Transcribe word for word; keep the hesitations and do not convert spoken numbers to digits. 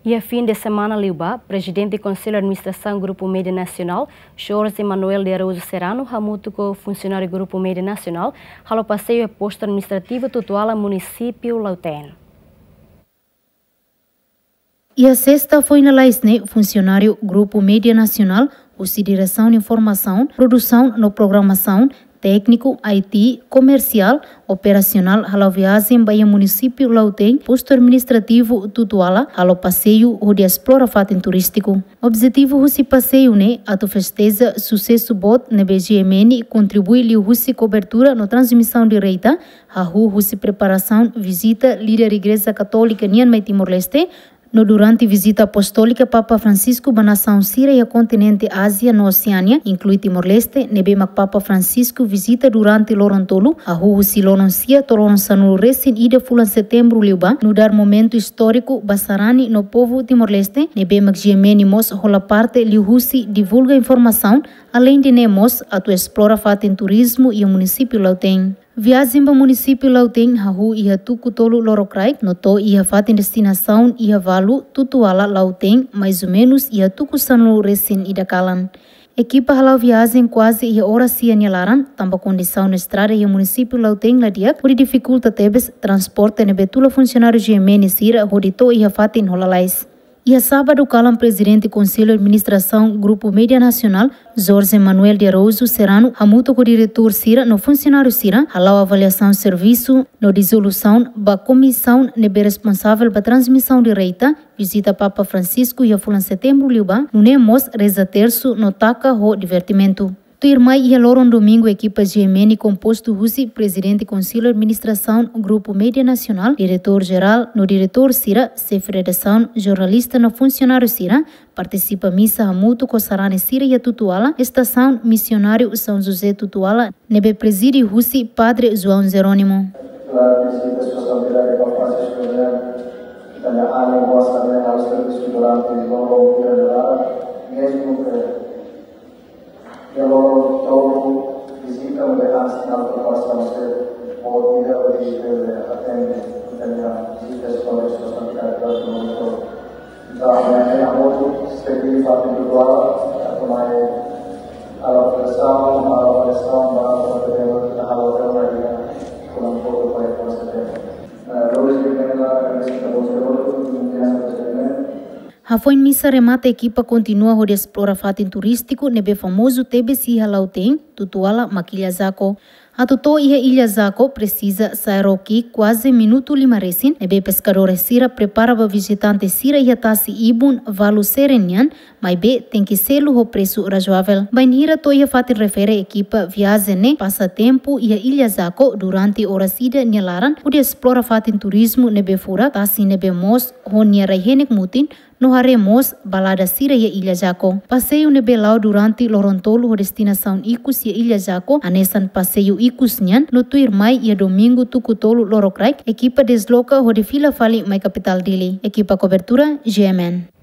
Iha fin de semana liubá, Prezidente Konsellu Administrasaun Grupu Média Nasionál, Jorge Manuel de Araújo Serrano, hamutuk ho funsionáriu Grupu Média Nasionál, halo paseiu iha postu administrativu Tutuala, munisípiu Lautém. Iha sesta foin lalais ne'e, funsionáriu Grupu Média Nasionál, husi Diresaun Informasaun, Produsaun no Programasaun, Tékniku, I T, Komersiál, Operasionál, hala'o viajen ba iha munisípiu Lautém, postu administrativu Tutuala, halo paseiu hodi esplora fatin turístiku. Objetivu husi paseiu ne'e atu festeja susesu boot ne'ebé G M N kontribui liuhusi kobertura no transmisaun direta, hahú husi preparasaun vizita líder Igreja Katólika nian mai Timor-Leste, no durante vizita apostólika Papa Francisco ba nasaun sira iha kontinente Ázia no Oseánia, inklui Timor-Leste, ne'ebé mak Papa Francisco vizita durante loron tolu, hahú husi loron sia to'o loron sanulu resin ida fulan Setembru liubá, nu'udar momentu istóriku ba sarani no povu Timor-Leste, ne'ebé mak G M N mós hola parte liuhusi divulga informasaun, aleinde ne'e mós atu esplora fatin turizmu iha munisípiu Lautém. Viajen ba munisípiu Lautém hahú iha tuku tolu lorokraik, no to'o iha fatin destinasaun iha valu Tutuala, Lautém, mais ou menus iha tuku sanulu resin ida kalan. Ekipa hala'o viajen kuaze iha oras sia nia laran, tanba kondisaun estrada iha munisípiu Lautém la di'ak, hodi difikulta tebes transporte ne'ebé tula funsionáriu G M N sira hodi to'o iha fatin ho lalais. Iha sábadu kalan, Prezidente Konsellu Administrasaun Grupu Média Nasionál, Jorge Manuel de Araújo Serrano, hamutuk ho diretór sira no funsionáriu sira, hala'o avaliasaun servisu no dizolusaun ba komisaun ne'ebé responsavel ba transmisaun direta, vizita Papa Francisco iha fulan Setembru liubá, nune'e mós reza tersu no taka ho divertimentu. Tuirmai iha loron domingu, ekipa G M N kompostu husi Prezidente Konsellu Administrasaun Grupu Média Nasionál, Diretór Jerál no diretór sira, xefe redasaun, jornalista no funsionáriu sira, partisipa misa hamutuk ho sarani sira iha Tutuala, estasaun misionáriu São José Tutuala, ne'ebé prezide husi Padre João Jerónimo. Durante vizita Sua Santidade Papa Francisco, ita-nia ánima boa também ao serviço durante loron ida ne'e, mesmo que iha loron tolu vizita, maibé hanesan preparasaun sira boot ida, hodi atende ita-nia vizita Sua Santidade durante loron tolu. Entaun, ami-nia motu, seperti di parte Tutuala, atu mai halo preparasaun, halo preparasaun ba, ba, ba, ba, halo preparasaun ba, Hafoin misa remata, ekipa kontinua hodi esplora fatin turístiku ne'ebé famozu tebes iha Lautém, Tutuala, mak Ilha Jaco. Atu to'o iha Ilha Jaco, presiza sa'e ró ki'ik kuaze minutu lima resin, ne'ebé peskadór sira prepara ba vizitante sira iha tasi ibun valu seren nian, maibé tenke selu ho presu razoavel. Bainhira to'o iha fatin refere, ekipa viajen ne'e pasa tempu iha Ilha Jaco durante oras ida nia laran, hodi esplora fatin turizmu ne'ebé furak, tasi ne'ebé moos ho nia rai-henek mutin, no haree mós balada sira iha Ilha Jaco. Paseiu ne'ebé la'o durante loron tolu ho destinasaun ikus iha Ilha Jaco, hanesan paseiu ikus nian, no tuirmai iha domingu tuku tolu lorokraik, ekipa desloka hodi fila fali mai kapitál Dili. Ekipa kobertura, G M N.